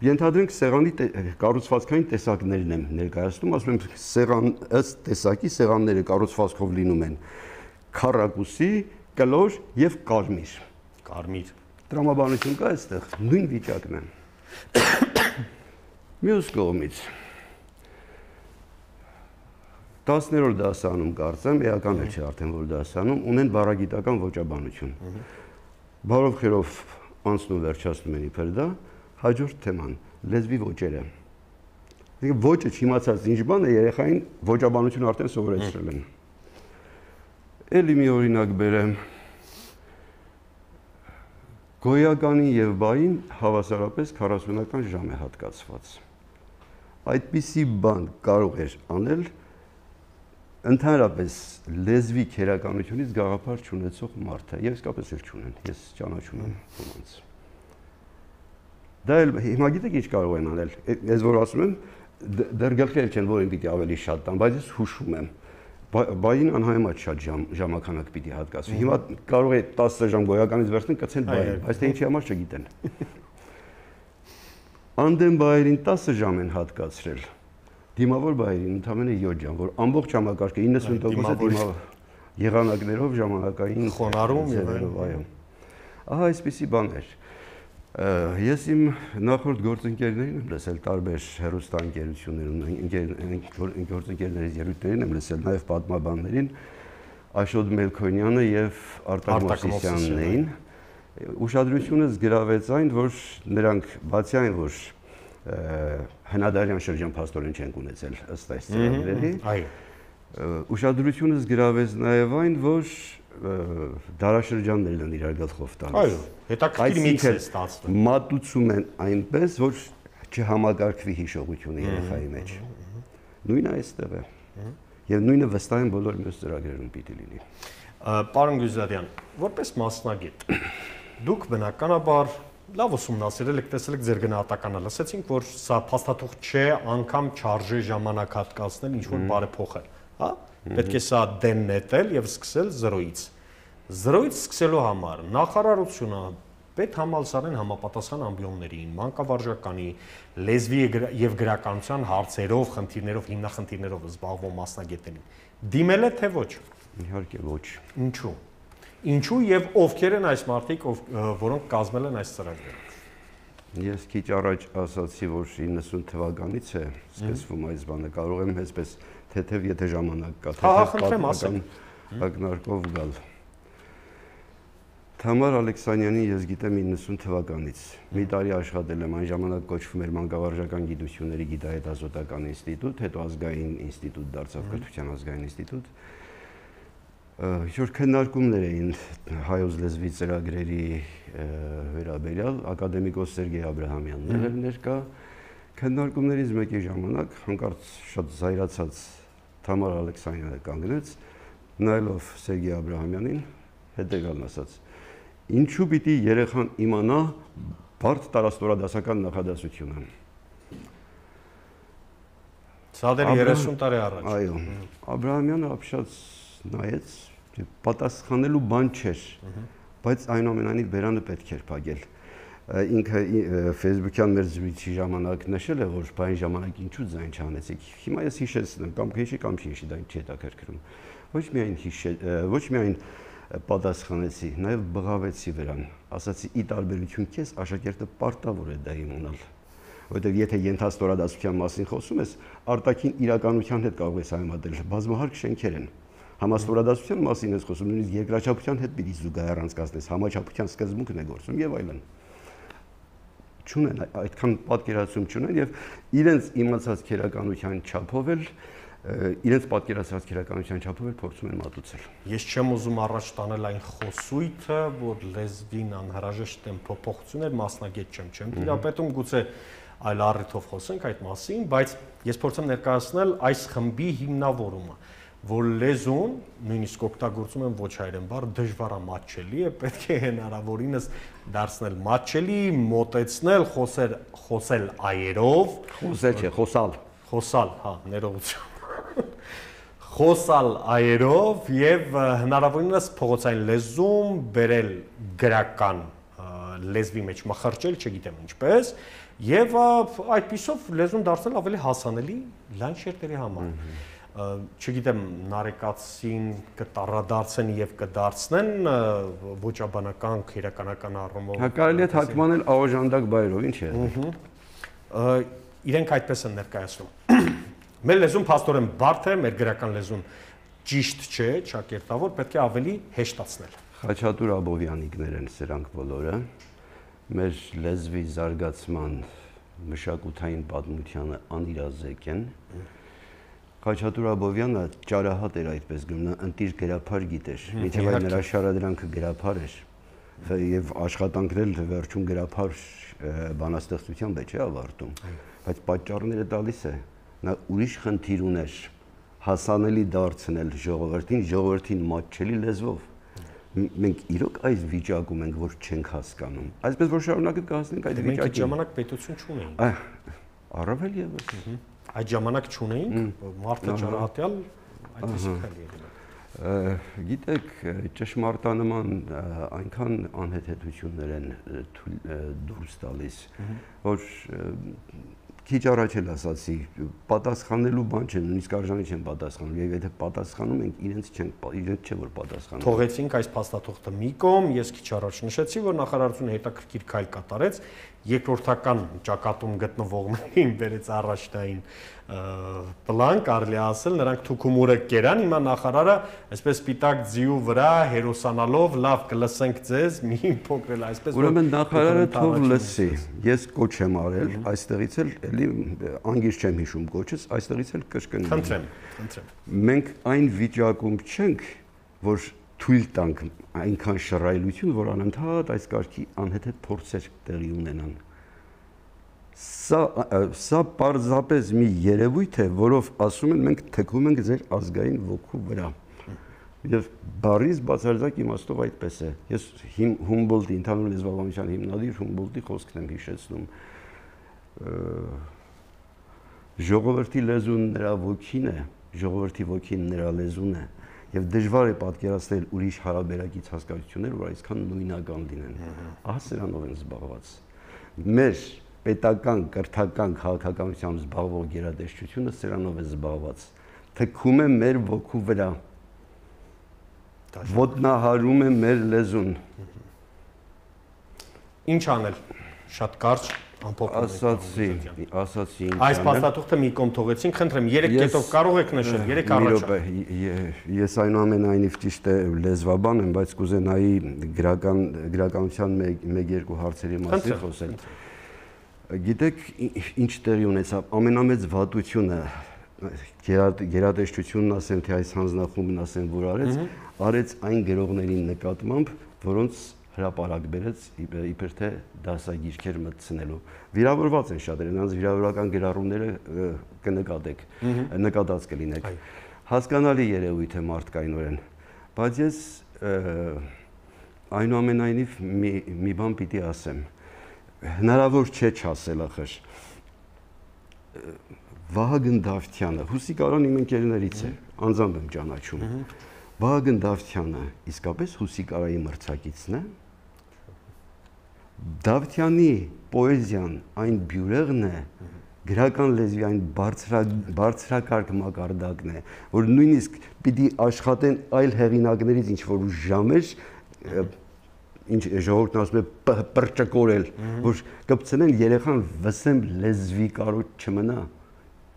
Ենթադրենք սեղանի կառուցվածքային տեսակներն եմ ներկայացնում, ասում եմ սեղան ըստ տեսակի սեղանները կառուցվածքով լինում են քառակուսի, կլոր եւ կարմիր։ Կարմիր։ Տրամաբանություն կա այստեղ, նույն վիճակն է։ Մյուս կողմից տասներորդ դասարանում կարծեմ, էական էլ չէ արդեն որ դասարանում, ունեն բառագիտական ոճաբանություն։ Բարով խերով անցնում վերջացնում են իբր դա, հաջորդ թեման լեզվի ոճերը։ Այսինքն ոճը չիմացած ինչ բան է, երեխային ոճաբանություն արդեն սովորեցրել են։ Էլի մի օրինակ բերեմ։ Գոյականի եւ բային հավասարապես քառասունական ժամ է հատկացված։ Այդպիսի բան կարող էր անել ընդհանրապես լեզվի քերականությունից գաղափար չունեցող մարդը, եւ իսկապես էլ չունեն, ես ճանաչում եմ ոմանց։ Դա էլ հիմա գիտեք ինչ կարող են անել, ես որ ասում եմ, դեռ գլխի չեն, որ են պիտի ավելի շատ տան, բայց ես հուշում եմ, բային անհայմատ շատ ժամականակ պիտի հատկացվի, հիմա կարող է տասը ժամ գոյականից վերցնեն կցեն բային, բայց թե ինչի համար չգիտեն։ Անդեն բայերին տասը ժամ են հատկացրել, դիմավոր բայերին ընդամենը յոթ ժամ, որ ամբողջ համակարգը իննսուն տոկոս է դիմավոր եղանակներով, ժամանակային խոնարհում եւ այո։ Ահա այսպիսի բան էր։ Ես իմ նախորդ գործընկերներին եմ լսել տարբեր հեռուստաընկերություններում, գործընկերներից ելույթներին եմ լսել նաև պատմաբաններին, Աշոտ Մելքոնյանը եւ Արտակ Մովսիսյանն։ Ուշադրությունս գրավեց այն, որ նրանք բացի այն, որ հնադարյան շրջան փաստորեն չեն ունեցել ըստ այս ծրագրերի, ուշադրությունս գրավեց նաև այն, որ դարաշրջաններն են իրար գլխով տալիս։ Այո, հետաքրքիր միքս է ստացվում։ Մատուցում են այնպես, որ չհամակարգվի հիշողությունը երեխայի մեջ։ Նույնը այստեղ է։ Եվ նույնը վստահ եմ բոլոր մյուս ծրագրերում պիտի լինի։ Պարոն Գյուզարյան, որպես մասնագետ, դուք բնականաբար լավ ուսումնասիրել եք, տեսել եք ձեր գնահատականը, լսեցինք, որ սա փաստաթուղթ չէ, անգամ չարժե ժամանակ հատկացնել, ինչ որ բարեփոխել, հա? Պետք է սա դեն նետել եւ սկսել զրոյից։ Զրոյից սկսելու համար նախարարությունը պետ համալսարան համապատասխան ամբիոններին, մանկավարժականի, լեզվի եւ գրականության հարցերով, խնդիրներով, հիմնախնդիրներով զբաղվող մասնագետներին դիմել է թե ոչ։ Իհարկե ոչ։ Ինչու։ Ինչու եւ ովքեր են այս մարդիկ, որոնք կազմել են այս ծրագրերը։ Ես քիչ առաջ ասացի, որ իննսուն թվականից է սկսվում այս բանը, կարող եմ այսպես թեթև եթե ժամանակ կա, թեթև պատմական ակնարկով գալ։ Թամար Ալեքսանյանի ես գիտեմ իննսուն թվականից։ Մի տարի աշխատել եմ, այն ժամանակ կոչվում էր Մանկավարժական գիտությունների գիտահետազոտական ինստիտուտ, հետո ազգային ինստիտուտ դարձավ, կրթության ազգային ինստիտուտ։ Ինչ-որ քննարկումներ էին հայոց լեզվի ծրագրերի վերաբերյալ, ակադեմիկոս Սերգեյ Աբրահամյանն էր ներկա։ Քննարկումներից մեկի ժամանակ հանկարծ շատ զայրացած Թամար Ալեքսանյանը կանգնեց, նայելով Սերգեյ Աբրահամյանին, հետևյալն ասաց. Ինչու պիտի երեխան իմանա բարդ տարաստորադասական նախադասությունը։ Սա դեռ երեսուն տարի առաջ։ Այո, Աբրահամյանը ապշած նայեց, պատասխանելու բան չէր, բայց այնուամենայնիվ բերանը պետք էր փակել։ Ինքը Facebook-յան մեր զրույցի ժամանակ նշել է, որ բային ժամանակ ինչու ձայն չանեցիք։ Հիմա ես հիշեցնեմ, կամ քեշի կամ չի, դա չի հետաքրքրում։ Ոչ միայն հիշել, ոչ միայն պատասխանեցի, նաև բղավեցի վրան։ Ասացի՝ ի տարբերություն քեզ, աշակերտը պարտավոր է դա իմանալ։ Որտեղ եթե ենթաստորադասության մասին խոսում ես, արտաքին իրականության հետ կարող ես համեմատել, բազմահարկ շենքեր են։ Համաստորադասության մասին ես խոսում, նույնիսկ երկրաչափության հետ պիտի զուգահեռ անցկացնես, համաչափության սկզբունքն է գործում եւ այլն։ Չունեն այդքան պատկերացում չունեն եւ իրենց իմացած քերականության չափով էլ իրենց պատկերացած քերականության չափով էլ փորձում են մատուցել։ Ես չեմ ուզում առաջ տանել այն խոսույթը, որ լեզվին անհրաժեշտ են փոփոխություններ, մասնագետ չեմ, չեմ տիրապետում, գուցե այլ առիթով խոսենք այդ մասին, բայց ես փորձեմ ներկայացնել այս խմբի հիմնավորումը, որ լեզուն, նույնիսկ օգտագործում են ոչ հայերեն բառ, դժվարամատչելի է, պետք է հնարավորինս դարձնել մատչելի, մոտեցնել, խոսել, խոսել այերով, խոսել չէ, խոսալ, խոսալ, հա, ներողություն։ Խոսալ այերով եւ հնարավորինս փողոցային լեզում բերել գրական լեզվի մեջ մխրճել, չգիտեմ ինչպես, եւ այդպիսով լեզուն դարձնել ավելի հասանելի լայն շերտերի համար։ Չգիտեմ, նարեկացին կտառադարձեն եւ կդարձնեն ոճաբանական, քերականական առումով։ Հա կարելի է թարգմանել ավաժանդակ բայրով, ինչ է։ Իրենք այդպես են ներկայացնում։ Մեր լեզուն փաստորեն բարդ է, մեր գրական լեզուն ճիշտ չէ, ճակերտավոր, պետք է ավելի հեշտացնել։ Խաչատուր Աբովյանիկներ են սրանք բոլորը։ Մեր լեզվի զարգացման մշակութային պատմությանը անիրազեկ են։ Խաչատուր Աբովյանը ճարահատ էր այդպես գնում, ընտիր գրափար գիտեր, մինչև այդ նրա շարադրանքը գրափար էր, եւ աշխատանքն էլ վերջում գրափար բանաստեղծության մեջ է ավարտում, բայց պատճառները տալիս է, նա ուրիշ խնդիր ուներ հասանելի դարձնել ժողովրդին, ժողովրդին մատչելի լեզվով։ Մենք իրոք այս վիճակում ենք, որ չենք հասկանում։ Այսպես որ շարունակը կհասնենք այդ վիճակին։ Մենք ժամանակ պետություն չունեինք։ Առավել եւս։ Այդ ժամանակ չունեինք, մարդը ճարահատյալ այդպես քայլ եղել։ Գիտեք, ճշմարտանման այնքան անհեթեթություններ են դուրս տալիս, որ քիչ առաջ էլ ասացի, պատասխանելու բան չէ, նույնիսկ արժանի չեն պատասխանում, եւ եթե պատասխանում ենք, իրենց չեն, իրենց չէ որ պատասխանում։ Թողեցինք այս փաստաթուղթը մի կողմ, ես քիչ առաջ նշեցի, որ նախարարությունը հետաքրքիր քայլ կատարեց, երկրորդական ճակատում գտնվողներին բերեց առաջնային պլան, կարելի ասել, նրանք թուքումուրը կերան, հիմա նախարարը այսպես սպիտակ ձիու վրա հերոսանալով, լավ կլսենք ձեզ, մի փոքր այսպես որ ուրեմն նախարարը թող լսի, ես կոչ եմ արել, այստեղից էլ էլի անգիր չեմ հիշում կոչս, այստեղից էլ կրկնեմ։ Խնդրեմ, խնդրեմ։ Մենք այն վիճակում չենք, որ թույլ տանք այնքան շռայլություն, որ անընդհատ այս կարգի անհեթեթ փորձեր տեղի ունենան։ Սա սա պարզապես մի երևույթ է, որով ասում են մենք թքվում ենք ձեր ազգային ոգու վրա։ Եվ բառից բացարձակ իմաստով այդպես է։ Ես Հումբոլտի ընդհանուր լեզվաբանության հիմնադիր Հումբոլտի խոսքն եմ հիշեցնում։ Ժողովրդի լեզուն նրա ոգին է, ժողովրդի ոգին նրա լեզուն է։ Եվ դժվար է պատկերացնել ուրիշ հարաբերակից հասկացություններ, որ այսքան նույնական լինեն։ Ահա սրանով են զբաղված։ Մեր պետական, կրթական քաղաքականությամբ զբաղվող գերատեսչությունը սրանով է զբաղված։ Թքում է մեր ոգու վրա։ Ոտնահարում է մեր լեզուն։ Ինչ անել։ Շատ կարճ ամփոփում ասացի, ասացի ինչ այս փաստաթուղթը մի կողմ թողեցինք, խնդրեմ, երեք կետով կարող եք նշել, երեք առաջ։ Ես այնուամենայնիվ ճիշտ է լեզվաբան եմ, բայց կուզենայի գրական գրականության մեկ-երկու հարցերի մասին խոսել։ Գիտեք, ինչ տեղի ունեցավ, ամենամեծ վատությունը գերատեսչությունն ասեն, թե այս հանձնախումբն ասեն, որ արեց, արեց այն գրողներին նկատմամբ, որոնց հրապարակ բերեց իբր թե դասագիրքեր մտցնելու։ Վիրավորված են շատերը, նրանց վիրավորական գրառումները կնկատեք, նկատած կլինեք։ Հասկանալի երևույթ է մարդկայնորեն, բայց ես այնուամենայնիվ մի մի բան պիտի ասեմ։ Հնարավոր չէ չասել ախր։ Վահագն Դավթյանը, Հուսիկարան իմ ընկերներից է, անձամբ եմ ճանաչում։ Վահագն Դավթյանը իսկապես Հուսիկարայի մրցակիցն է։ Դավթյանի պոեզիան այն բյուրեղն է, գրական լեզվի այն բարձրակարգ մակարդակն է, որ նույնիսկ պիտի աշխատեն այլ հեղինակներից ինչ որ ժամեր, ինչ ժողովուրդն ասում է պրճկորել, որ կպցնեն երեխան վսեմ լեզվի կարոտ չմնա,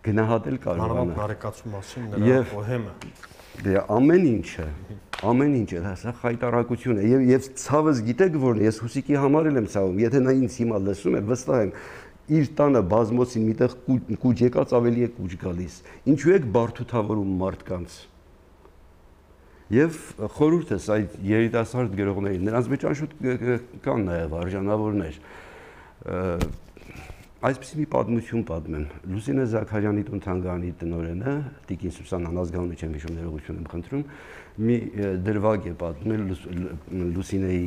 գնահատել կարողանա։ Մանավանդ նարեկացու մասին նրա պոհեմը։ Դե ամեն ինչը, ամեն ինչը, դա խայտարակություն է եւ եւ ցավս գիտեք որ ես Հուսիկի համար եմ ցավում, եթե նա ինձ հիմա լսում է, վստահ եմ իր տանը բազմոցին միտեղ կուջ եկած ավելի է կուջ գալիս։ Ինչու եք բարդութավորում մարդկանց։ Եվ խորհուրդս այդ երիտասարդ գրողներին, նրանց մեջ անշուտ կան նաև արժանավորներ։ Այսպիսի մի պատմություն պատմեմ։ Լուսինե Զաքարյանի տուն-թանգարանի տնօրենը, Տիկին Սուսան անազգանունի չեմ հիշում, ներողություն եմ խնդրում, մի դրվագ է պատմել Լուսինեի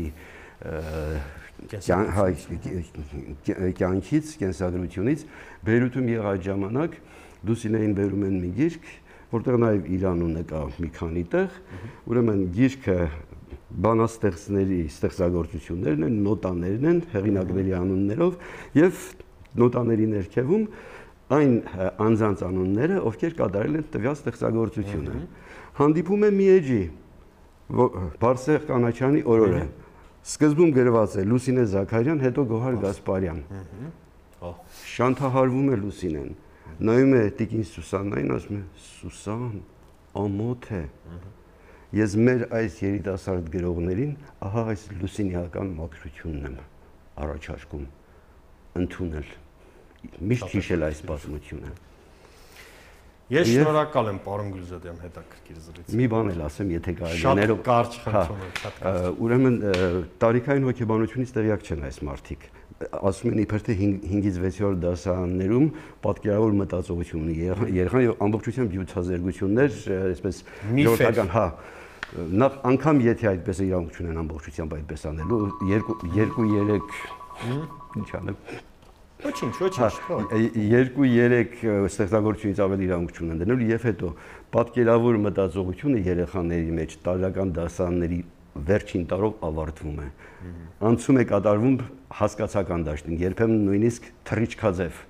կյանքից, կենսագրությունից, Բեյրութում եղած ժամանակ Լուսինեին բերում են մի գիրք, որտեղ նաև իր անունը կա մի քանի տեղ, ուրեմն գիրքը բանաստեղծների ստեղծագործություններն են, նոտաներն են, հեղինակների անուններով եւ նոտաների ներքևում այն անձանց անունները, ովքեր կատարել են տվյալ ստեղծագործությունը։ Հանդիպում է մի էջի Բարսեղ Կանաչյանի օրորը։ Սկզբում գրված է Լուսինե Զաքարյան, հետո Գոհար Գասպարյան։ Շանթահարվում է Լուսինեն։ Նայում է Տիկին Սուսաննային, ասում է. «Սուսան, ամոթ է։ Ես մեր այս երիտասարդ գրողներին ահա այս լուսինիական մաքրությունն եմ առաջարկում ընդունել, միշտ հիշել այս պատմությունը»։ Ես շնորհակալ եմ, պարոն Գյուլզադյան, հետաքրքիր զրույց։ Մի բան էլ ասեմ, եթե կարելի է։ Շատ կարճ խնդրում եմ, շատ կարճ։ Ուրեմն տարիքային հոգեբանությունից տեղյակ չեն այս մարդիկ։ Ասում են իբր թե հինգից վեցերորդ դասարաններում պատկերավոր մտածողություն ունի երեխան եւ ամբողջությամբ յութազերգություններ, այսպես ժողովրդական, հա, նախ անգամ եթե այդպես իրավունք ունեն ամբողջությամբ այդպես անելու, երկու-երեք ինչ անեմ։ Ոչինչ, ոչինչ։ Երկու-երեք ստեղծագործությունից ավելի իրավունք չունեն դնելու եւ հետո պատկերավոր մտածողությունը երեխաների մեջ տարեկան դասարանների վերջին տարով ավարտվում է։ Անցում է կատարվում հասկացական դաշտին, երբեմն նույնիսկ թռիչքաձև։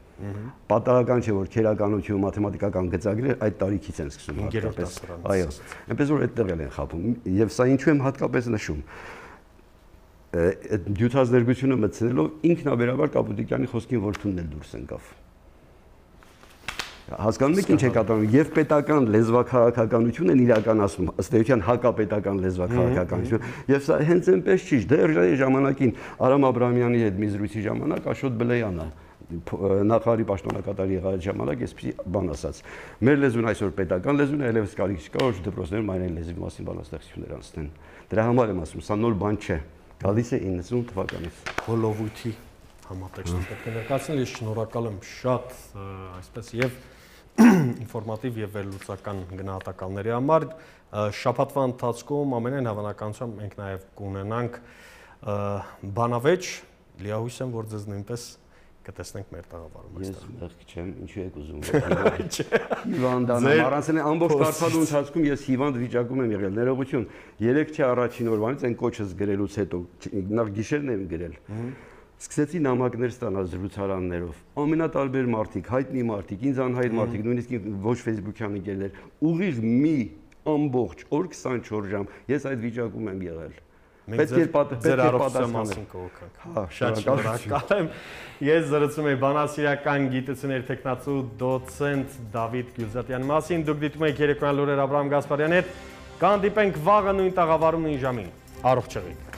Պատահական չէ, որ քերականություն, մաթեմատիկական գծագրեր այդ տարիքից են սկսում հատկապես։ Այո, այնպես որ այդտեղ են խափում։ Եվ սա ինչու եմ հատկապես նշում։ Այդ յութազերգությունը մտցնելով ինքնաբերաբար Կապուտիկյանի խոսքին որդունն էլ դուրս ընկավ։ Հասկանում եք ինչ է կատարվում, եւ պետական լեզվաքաղաքականություն են իրականացնում, ըստ էության հակապետական լեզվաքաղաքականություն, եւ սա հենց այնպես չի, դեռ ժամանակին Արամ Աբրահամյանի հետ մի զրույցի ժամանակ Աշոտ Բլեյանը նախարարի պաշտոնակատար եղած ժամանակ այսպեսի բան ասաց. մեր լեզուն այսօր պետական լեզուն է, այլևս կարիք չկա, որ դպրոցներում այն լեզվի մասին բանաստեղծություններ անցնեն։ Դրա համար եմ ասում, սա նոր բան չէ, գալիս է իննսուն թվականից։ Հոլովույթի համատեքստը պետք է ներկայացնել, ես շնորհակալ եմ շատ այսպես եւ ինֆորմատիվ եւ վերլուծական գնահատականների համար։ Շաբաթվա ընթացքում ամենայն հավանականությամբ մենք նաեւ կունենանք բանավեճ, լիահույս եմ, որ ձեզ նույնպես կտեսնենք մեր տաղավարում։ Ես մեղք չեմ, ինչու եք ուզում։ Հիվանդանամ, առանցել ամբողջ կարծալու ընթացքում ես հիվանդ վիճակում եմ եղել, ներողություն։ Երեք չէ առաջին օրվանից այն կոչս գրելուց հետո, նախ գիշերն եմ գրել։ Սկսեցի նամակներ ստանալ զրուցարաններով, ամենատարբեր մարդիկ, հայտնի մարդիկ, ինձ անհայտ մարդիկ, նույնիսկ ոչ Facebook-յան ընկերներ, ուղիղ մի ամբողջ օր քսանչորս ժամ ես այդ վիճակում եմ եղել։ Պետք է պատասխանել։ Շատ շնորհակալ եմ։ Ես զրուցում եմ բանասիրական գիտությունների տեխնացու դոցենտ Դավիթ Գյուլզատյանի մասին, դուք դիտում եք երեկոյան լուրեր Աբրահամ Գասպարյանի հետ, կհանդիպենք վաղը նույն տաղավարում նույն ժամին։ Առողջ եղեք։